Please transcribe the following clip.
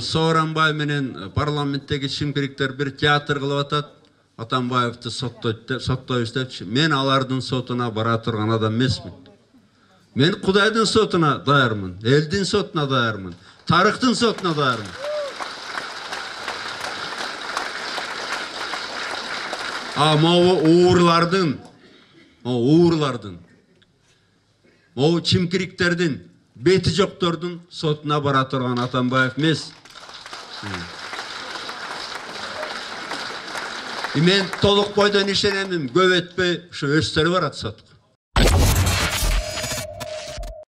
Сооронбай менен парламенттеги чимкириктер бир театр кылып атат. Атамбаевди соттойбуз депчи. Мен алардын сотуна бара турган адам эмесмин. Мен Кудайдын сотуна даярмын, элдин сотуна даярмын, тарыхтын сотуна даярмын. Могу уурлардын, могу чимкириктердин, бети жоктордун сотуна бара турган Атамбаев эмес. Мен толук бойдон ишенемин, көп өтпөй ушу өздөрү барат сотко.